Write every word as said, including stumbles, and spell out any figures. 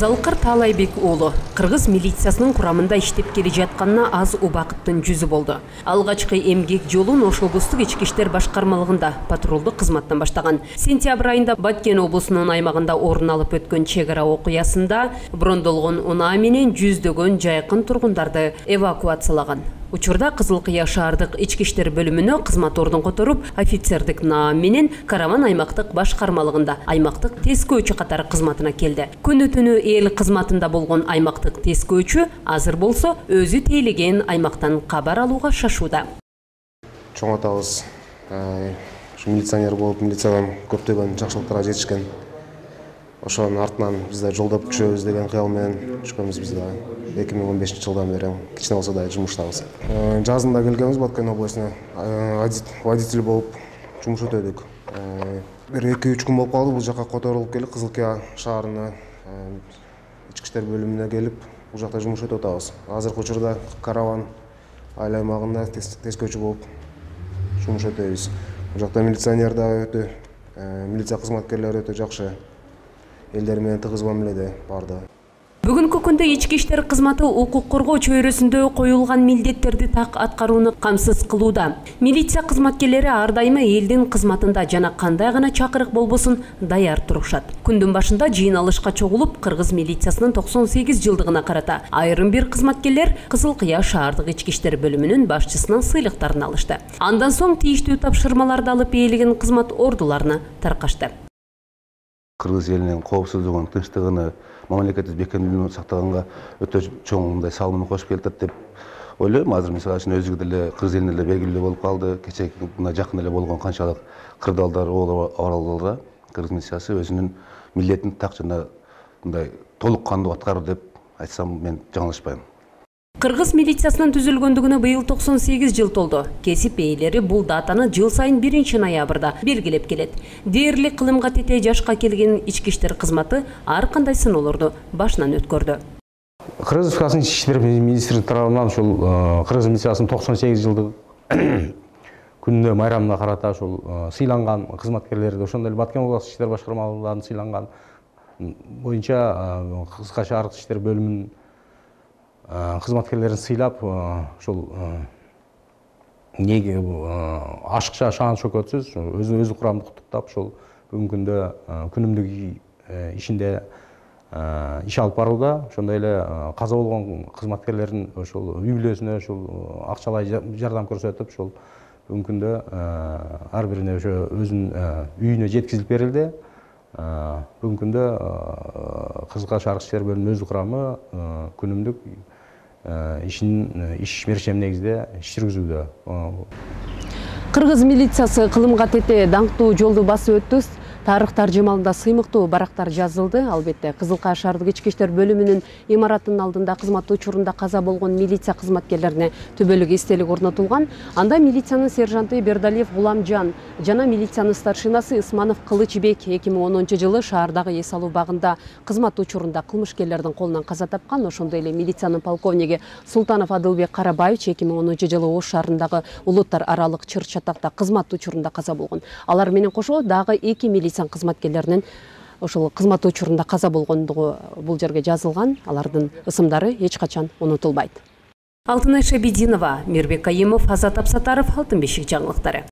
Залкар Таалайбек уулу кыргыз милициясынын курамында иштеп келе жатканына аз убакыттын жүзү болду. Алгачкы эмгек жолун Ош облустук ички иштер башкармалыгында патрулдук кызматтан баштаган. Сентябрь айында Баткен облусунун аймагында орун алып өткөн чек ара окуясында брондолгон унаа менен жүздөгөн жайкын тургундарды эвакуациялаган. Учурда Кызыл Кыя шаардык ички иштер бөлүмүнө кызмат ордун которуп, офицердик наам менен Караван аймактык башкармалыгында аймактык тескөөчү катары кызматына келди. Күнү түнү эл кызматында болгон аймактык тескөөчү азыр болсо өзү тейлеген аймактан кабар алууга шашууда. Чоң атабыз милиционер болуп, милициядан көптөгөн жакшылыктарга жетишкен. Ошонун артынан биз да жолдоп күчөбүз деген кыял менен түшкөнбүз. Биз да эки миң он бешинчи жылдан бери кичине болсо да жумуштабыз. Жазында келгенбиз Баткен областына, водитель болуп жумуш өтөдүк. Бир эки үч күн болуп калды, бул жака которулуп келип, Кызыл Кыя шаарына ички иштер бөлүмүнө келип, бул жакта жумуш өтүп атабыз. Азыркы учурда Караван айыл аймагында тескөөчү болуп жумуш өтөбүз. Бул жакта милиционер да өтө, милиция кызматкерлери өтө жакшы. Элдер менен тыгыз мамиледе барды. Бүгүнкү күндө ички иштер кызматы укук коргоо чөйрөсүндө коюлган милдеттерди так аткарууну камсыз кылууда. Милиция кызматкерлери ар дайыма элдин кызматында жана кандай гана чакырык болбосун даяр турушат. Күндүн башында жыйналышка чогулуп, кыргыз милициясынын токсон сегиз жылдыгына карата айрым бир кызматкерлер Кызыл Кыя шаардык ички иштер бөлүмүнүн башчысынан сыйлыктарын алышты. Андан соң тийиштүү тапшырмаларды алып ээлеген кызмат ордуларына таркашты. Кыргыз элинин коопсуздугун, тынчтыгыны, мамлекеттик бекемдүүлүгүн сактаганга өтө чоң мындай салымын кошуп келатат деп ойлойм. Азыр мисалы үчүн өзүгө деле кыргыз элине деле белгилүү болуп калды. Кечээки мына жакын эле болгон канчалык кырдаалдар, абалдарга кыргыз милициясы өзүнүн милдетин так жана мындай толук кандуу аткарды деп айтсам мен жаңылышпайм. Кыргыз милициясынын түзүлгөндүгүнө быйыл токсон сегиз жыл толду. Кесип ээлери бул датаны жыл сайын биринчи ноябрда белгилеп келет. Дээрлик кылымга тете жашка келген ички иштер кызматы ар кандай сыноолорду башынан өткөрдү. Кыргыз Республикасынын ички иштер министрлиги тарабынан ушул Кыргыз милициясынын токсон сегиз жылдык күнүнө майрамына карата ушул сыйланган кызматкерлерди, ошондой эле Баткен облустук ички иштер башкармалыгынан сыйланган боюнча Кызыл Кыя шаардык иштер бөлүмүнүн кызматкерлерин сыйлап, ошол неге ашыкча шаан шөкөтсүз өзү өзү курамды куттуктап, ошол бүгүнкү күндө күнүмдүк ишинде иш алып барууда. Ошондой эле каза болгон кызматкерлердин ошол үй бүлөсүнө ошол акчалай жардам көрсөтүп, ошол бүгүнкү күндө ар бирине ошо өзүнүн үйүнө жеткизилип берилди. Бүгүнкү күндө Кызыл Кыя шаардык иштер бөлүмүнүн өз курамы күнүмдүк ишин иш мерчем негизде иш жүргүзүүдө. Кыргыз милициясы кылымга тете даңктуу жолду басып өттү. Тарых таржымалында сыймыктуу барактар жазылды. Албетте, Кызыл Кыя шаардык ички иштер бөлүмүнүн имаратынын алдында кызмат учурунда каза болгон милиция кызматкерлерине түбөлүк эстелик орнотулган. Анда милициянын сержанты Бердалиев Гуламжан жана милициянын старшинасы Исманов Кылычбек эки миң онунчу жылы шаардагы эс алуу багында кызмат учурунда кылмышкерлердин колунан каза тапкан. Ошондой эле милициянын полковниги Султанов Адылбек Карабаевич эки миң онунчу жылы Ош шаарындагы улуттар аралык чыр чатакта кызмат учурунда каза болгон. Алар менен кошо дагы эки милиция кызматкерлеринин ошол кызмат учурунда каза болгондугу бул жерге жазылган. Алардын ысымдары эч качан унутулбайт. Алтынай Шабидинова, Мирбек Кайымов, Азат Апсатаров, Алтын бешик жаңылыктары.